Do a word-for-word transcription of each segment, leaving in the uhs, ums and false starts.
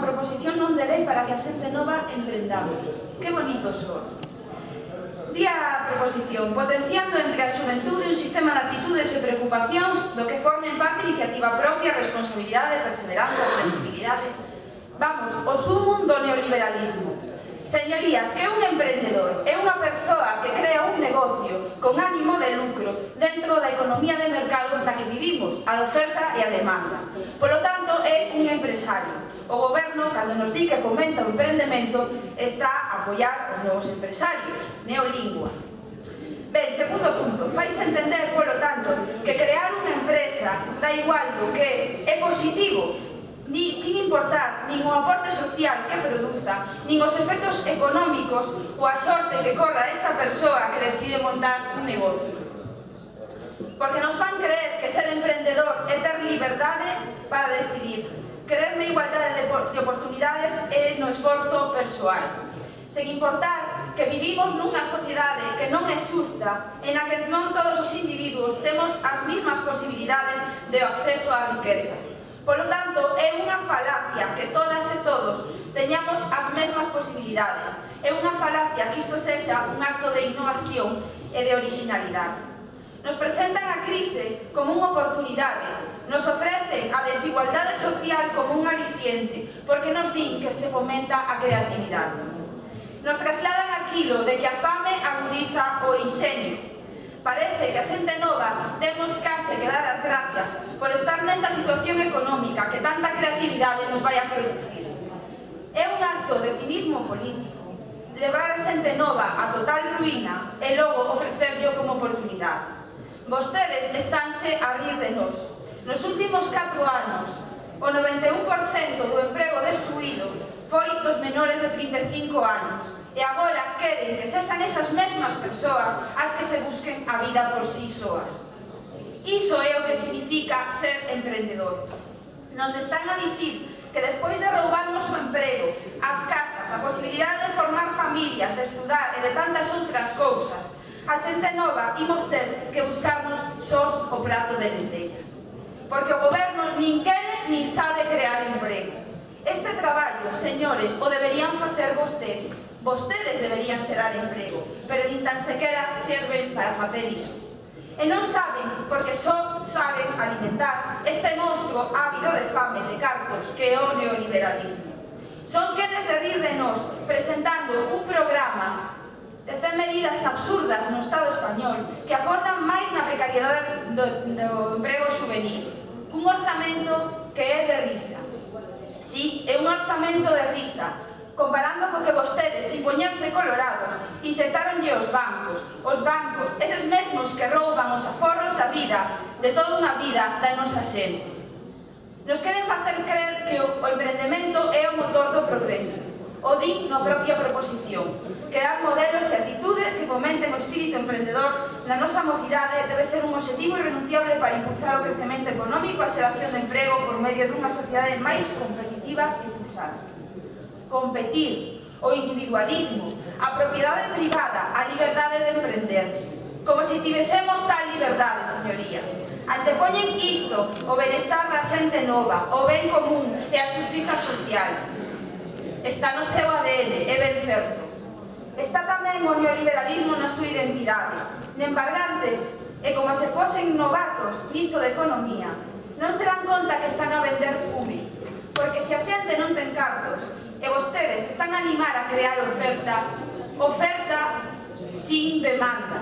proposición non de lei para que a xente nova emprendamos. Que bonito son. Di a proposición, potenciando entre a xuventude un sistema de actitudes e preocupacións do que formen parte iniciativa propia, responsabilidade, perseveranza, flexibilidade. Vamos, o sumum do neoliberalismo. Señorías, que un emprendedor é unha persoa que crea un negocio con ánimo de lucro dentro da economía de mercado na que vivimos, a oferta e a demanda. Polo tanto, é un empresario. O goberno, cando nos di que fomenta o emprendemento, está a apoiar os novos empresarios. Neolingua. Ben, segundo punto, fais entender, polo tanto, que crear unha empresa da igual do que é positivo, ni sin importar nin o aporte social que produza, nin os efectos económicos ou a sorte que corra esta persoa que decide montar un negocio. Porque nos fan creer que ser emprendedor é ter liberdade para decidir, creer na igualdade de oportunidades e no esforzo persoal, sen importar que vivimos nunha sociedade que non é xusta, en a que non todos os individuos temos as mesmas posibilidades de acceso á riqueza. Polo tanto, é unha falacia que todas e todos teñamos as mesmas posibilidades. É unha falacia que isto sexa un acto de innovación e de originalidade. Nos presentan a crise como unha oportunidade, nos ofrecen a desigualdade social como un aliciente, porque nos din que se fomenta a creatividade. Nos trasladan aquilo de que a fame agudiza o inxenio. Parece que a xente nova temos case que dar as gracias por estar nesta situación económica que tanta creatividade nos vai a producir. É un acto de cinismo político levar a xente nova a total ruína e logo ofrecerllo como oportunidade. Vostedes estánse a rir de nós. Nos últimos catro anos, o noventa e un por cento do emprego destruído foi dos menores de trinta e cinco anos. E agora queren que sexan esas mesmas persoas as que se busquen a vida por sí soas. Iso é o que significa ser emprendedor. Nos están a dicir que despois de roubarnos o emprego, as casas, a posibilidade de formar familias, de estudar e de tantas outras cousas, a xente nova imos ter que buscarnos sós o prato de lentellas. Porque o goberno nin quere nin sabe crear emprego. Este traballo, señores, o deberían facer vostedes. Vostedes deberían xerar emprego, pero nin tan sequera serven para facer iso. E non saben, porque só saben alimentar este monstruo ávido de fame, de cartos, que é o neoliberalismo. Son quenes de rir de nós, presentando un programa de cen medidas absurdas no Estado español que afondan máis na precariedade do, do emprego juvenil. Un orzamento que é de risa. Sí, é un orzamento de risa, comparando co que vostedes, sin poñerse colorados, inxectaronlle os bancos, os bancos, eses mesmos que rouban os aforros da vida, de toda unha vida da nosa xente. Nos queren facer creer que o emprendemento é o motor do progreso. O di na propia proposición. Crear modelos e actitudes que fomenten o espírito emprendedor na nosa mocidade debe ser un objetivo irrenunciable para impulsar o crecemento económico e a xeración de emprego por medio dunha sociedade máis competitiva e pulsante. Competir, o individualismo, a propiedade privada, a liberdade de emprender. Como se tivésemos tal liberdade, señorías. Antepoñen isto, o benestar da xente nova, o ben común e a xustiza social. Está no seu A D N, é ben certo. Está tamén o neoliberalismo na súa identidade. Nembargantes, e como se fosen novatos nisto de economía, non se dan conta que están a vender fume. Porque se a xente non ten cartos, e vostedes están a animar a crear oferta, oferta sin demanda.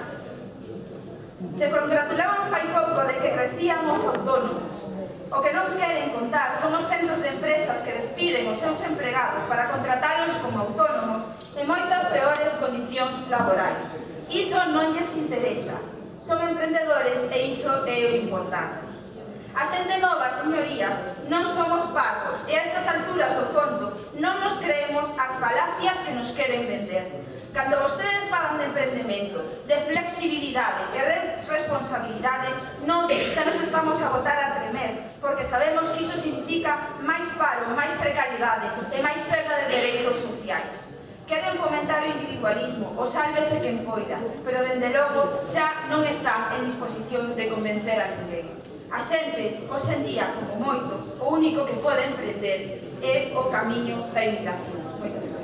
Se congratulaban fai pouco de que crecían os autónomos. O que non queren contar son os centros de empresas que despiden os seus empregados para contratalos como autónomos en moitas peores condicións laborais. Iso non lles interesa. Son emprendedores e iso é o importante. A xente nova, señorías, non somos pagos e a estas alturas do conto non nos creemos as falacias que nos queren vender. Cando vostedes falan de emprendemento, de flexibilidade e responsabilidade, nos xa nos estamos a botar a tremer, porque sabemos que iso significa máis paro, máis precariedade e máis perda de dereitos sociais. Queren fomentar o individualismo, o sálvese quen poida, pero dende logo xa non está en disposición de convencer a ninguén. A xente, hoxe en día, como moito, o único que pode emprender é o camiño da emigración. Moitas gracias.